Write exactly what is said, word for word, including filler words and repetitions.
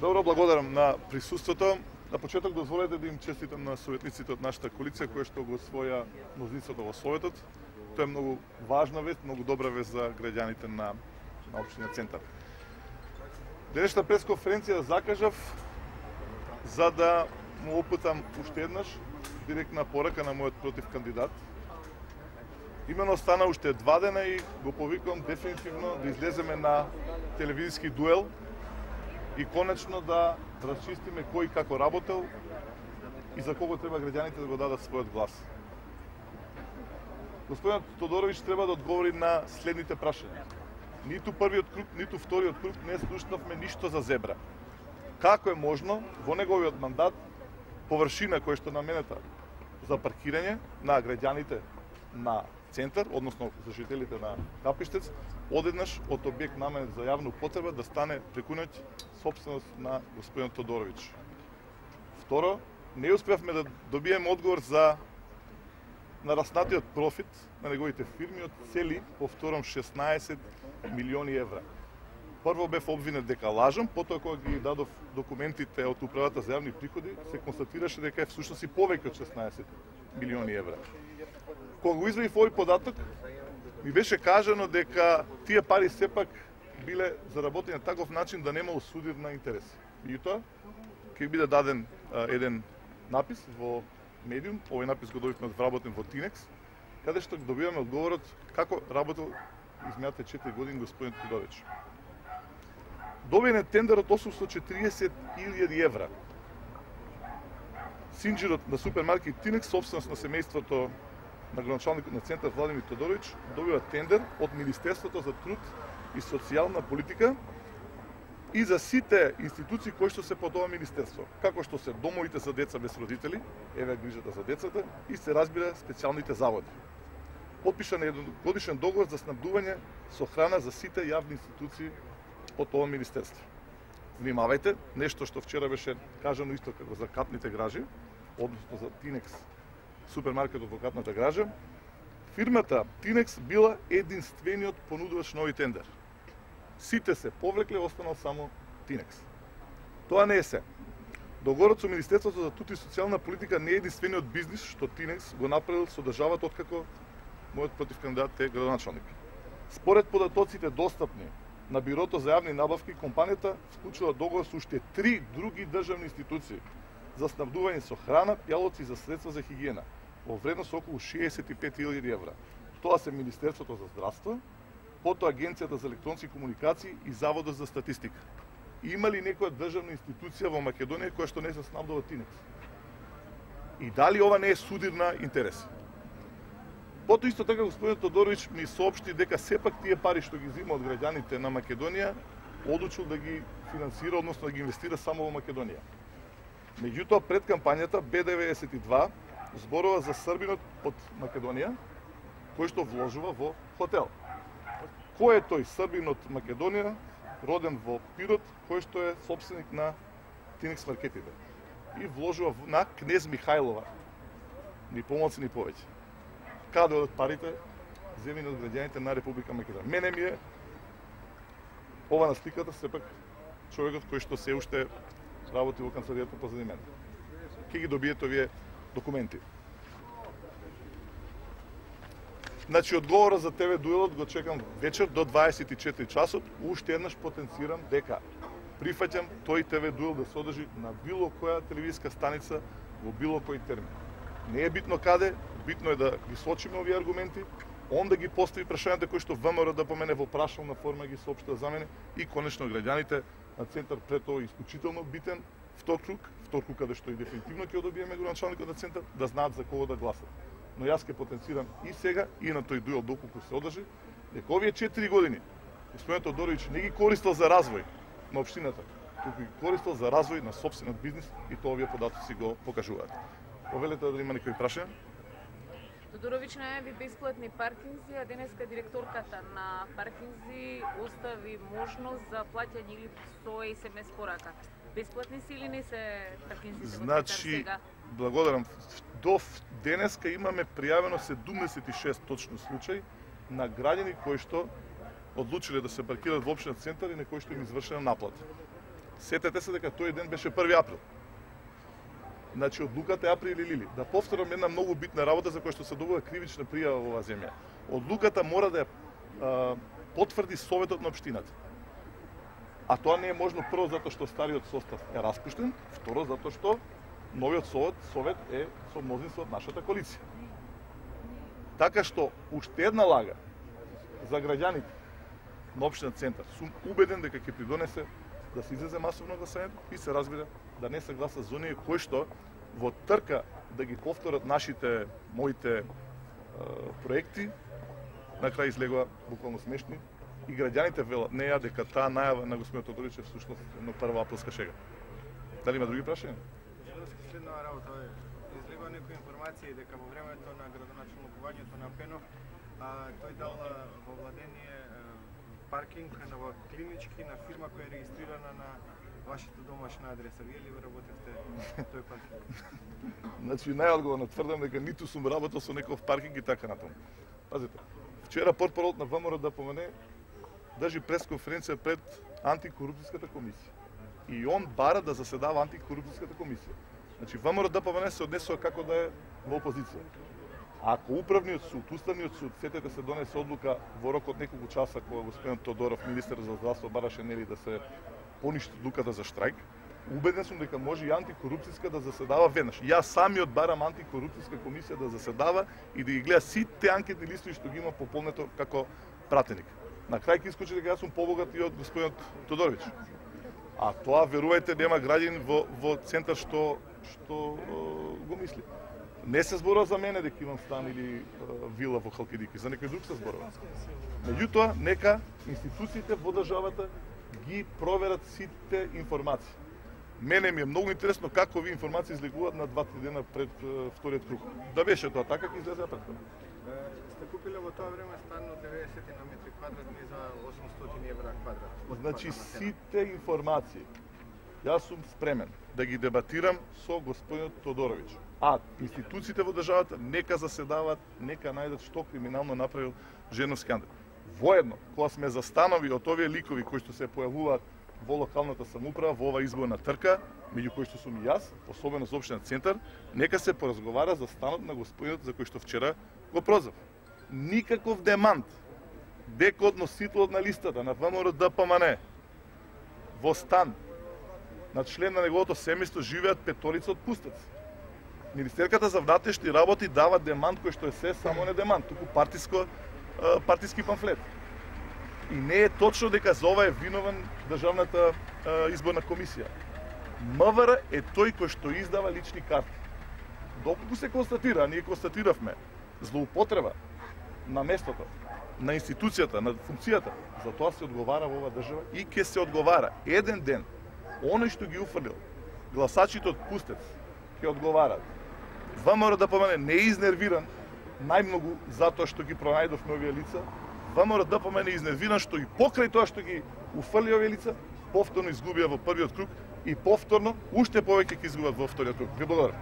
Добро, благодарам на присуството. На почеток дозволете да им честитам на советниците од нашата коалиција кои што го освоја мнозинството во Советот. Тоа е многу важна вест, многу добра вест за граѓаните на, на општина Центар. Денешната пресконференција закажав за да му опитам уште еднаш директна порака на мојот против кандидат. Имено стана уште два дена и го повикувам дефинитивно да излеземе на телевизиски дуел и конечно да расчистиме кој како работел и за кого треба граѓаните да го дадат својот глас. Господинот Тодоровиќ треба да одговори на следните прашања. Ниту првиот круг, ниту вториот круг не слушнавме ништо за Зебра. Како е можно во неговиот мандат површина која што наменета за паркирање на граѓаните на Центар, односно за жителите на Капиштец, одеднаш од објект наменет за јавна употреба да стане преку ноќ сопственост на господин Тодоровиќ. Второ, не успеавме да добиеме одговор за нараснатиот профит на неговите фирми од цели, повторам, шеснаесет милиони евра. Прво бев обвинет дека лажам, потоа кога ги дадов документите од управата за јавни приходи, се констатираше дека е всушност и повеќе од шеснаесет милиони евра. Кога го извадив овој податок, ми беше кажано дека тие пари сепак биле заработени на таков начин да нема осудир на интереси. Меѓутоа, ќе биде даден а, еден напис во медиум, овој напис го добивме вработен во Тинекс, каде што добиваме одговорот како работел изминатите четири години господин Тодоровиќ. Добиен е тендер од осумстотини и четириесет илјади евра. Синџирот на супермаркет Тинекс, собственост на семејството на градоначалникот на Центар Владимир Тодоровиќ, добива тендер од Министерството за труд и социјална политика и за сите институции кои што се под ова министерство, како што се домовите за деца без родители, еве грижата за децата и се разбира специјалните заводи. Потпишан е едногодишен договор за снабдување со храна за сите јавни институции под ова министерство. Внимавајте, нешто што вчера беше кажано исто како за катните гражи, односно за Тинекс, супермаркетот во катната гража, фирмата Тинекс била единствениот понудувач на овој тендер. Сите се повлекле, останал само Тинекс. Тоа не е се. Договорот со Министерството за труд и социјална политика не е единствениот бизнис што Тинекс го направил со државата откако мојот против кандидат е градоначалник. Според податоците достапни на Бирото за јавни набавки, компанијата вклучила договор со уште три други државни институции за снабдување со храна, пјалоци за средства за хигиена во вредност околу шеесет и пет илјади евра. Тоа се Министерството за здравство, потоа Агенцијата за електронски комуникации и Заводот за статистика. Има ли некоја државна институција во Македонија која што не се снабдува Тинекс? И дали ова не е судир на интереси? Потоа исто така господин Тодоровиќ ми соопшти дека сепак тие пари што ги зима од граѓаните на Македонија одлучил да ги финансира, односно да ги инвестира само во Македонија. Меѓутоа, пред кампањата Б деветдесет и два зборува за србинот од Македонија, кој што вложува во хотел. Кој е тој србин од Македонија, роден во Пирот, кој што е собственик на Тинекс маркетите и вложува на Кнез Михајлова, ни помалку ни повеќе. Каде одат парите земени од граѓаните на Република Македонија? Мене ми е ова на сликата сепак човекот кој што се уште работи во канцеларијата позади мене. Ке ги добиете овие документи. Значи, одговорот за ТВ дуелот го чекам вечер до дваесет и четири часот. Уште еднаш потенцирам дека прифаќам тој ТВ дуел да се одржи на било која телевизиска станица во било кој термин. Не е битно каде, битно е да ги сочиме овие аргументи, он да ги постави прашањата кои што ВМРО да помене во прашална форма ги соопштува за мене и конечно граѓаните на Центар пред тоа исклучително битен втор круг, втор круг каде што и дефинитивно ќе добиеме градоначалникот на Центар, да знаат за кого да гласат. Но јас ќе потенцирам и сега и на тој дуел доколку се одржи, дека овие четири години господин Тодоровиќ не ги користел за развој на општината, туку ги користел за развој на сопствениот бизнис и тоа овие податоци го покажуваат. Повелете да има некои прашања? Тодоровиќ најави бесплатни паркинзи, а денеска директорката на паркинзи остави можност за плаќање или со ес ем ес порака. Бесплатни си или не се паркинзите значи, во сега? Благодарам. До денеска имаме пријавено седумдесет и шест точно случаи на граѓани кои што одлучиле да се паркираат во општина Центар и на кои што им извршена наплата. Сетете се дека тој ден беше први април. Значи, одлуката е април или лили. Да повторам една многу битна работа за која што се добива кривична пријава во оваа земја. Одлуката мора да ја а, потврди Советот на општината. А тоа не е можно прво затоа што стариот состав е распуштен, второ затоа што новиот совет, совет е со мнозинство од нашата коалиција. Така што уште една лага за граѓаните на општина Центар. Сум убеден дека ќе придонесе да се излезе масовно гласањето и се разбира да не се гласа за оние кои што во трка да ги повторат нашите, моите е, проекти, на крај излегува буквално смешни и граѓаните велат не ја дека таа најава на господинот Тодорич е всушност една прва априлска шега. Дали има други прашања? Следна работа е, излегува некои информации дека во времето на градоначалникувањето на Пенов, а, тој дал во владение паркинг на во клинички на фирма која е регистрирана на вашата домашна адреса. Вие ли работевте тој паркинг? Значи, најодговорно тврдам дека ниту сум работел со некој паркинг и така натаму. Пазите, вчера портпаролот на ВМРО да помене држи пресконференција пред антикорупцијската комисија. И он бара да заседава антикорупцијската комисија. Значи, ВМРО да помене се однесува како да е во опозиција. Ако управниот суд, уставниот суд, сетете се донесе одлука во рок од неколку часа кога господин Тодоров, министер за здравство, бараше нели да се поништи одлуката за штрајк, убеден сум дека може и антикорупцијска да заседава веднаш. Јас самиот барам антикорупцијска комисија да заседава и да ги гледа сите анкетни листови што ги има пополнето како пратеник. На крај ќе искочи дека јас сум побогат и од господинот Тодорович. А тоа верувајте нема граѓанин во во Центар што што го мисли. Не се зборува за мене дека имам стан или uh, вила во Халкидики, за некој друг се зборува. Меѓутоа, нека институциите во државата ги проверат сите информации. Мене ми е многу интересно како ви информации излегуваат на два-три дена пред uh, вториот круг. Да беше тоа така, ќе излезе предходно. Сте купиле во тоа време стан од деветдесет на метри квадратни за осумстотини евра квадрат. Значи, сите информации, јас сум спремен да ги дебатирам со господинот Тодорович. А институциите во државата нека заседаваат, нека најдат што криминално направил Женовски Андрей. Воедно, кога сме застанови од овие ликови кои што се појавуваат во локалната самоуправа, во ова изборна трка, меѓу кои што сум и јас, особено за општина Центар, нека се поразговара за станот на господинот за кој што вчера го прозвав. Никаков демант дека од носителот на листата на ВМРО Д П М Н во стан на член на неговото семејство живеат петорица од пустаци. Министерката за внатрешни работи дава демант кој што е се само не демант, туку партиско партиски памфлет. И не е точно дека за ова е виновен државната изборна комисија. М В Р е тој кој што издава лични карти. Доколку се констатира, а ние констатиравме злоупотреба на местото, на институцијата, на функцијата, за тоа се одговара во оваа држава и ќе се одговара еден ден. Оној што ги уфрлил гласачите од Пустец ќе одговарат. ВМРО Д П М Н не е изнервиран најмногу затоа што ги пронајдовме овие лица. ВМРО Д П М Н е изнервиран што и покрај тоа што ги уфрли овие лица, повторно изгубија во првиот круг и повторно уште повеќе ќе изгубат во вториот круг. Ви благодарам.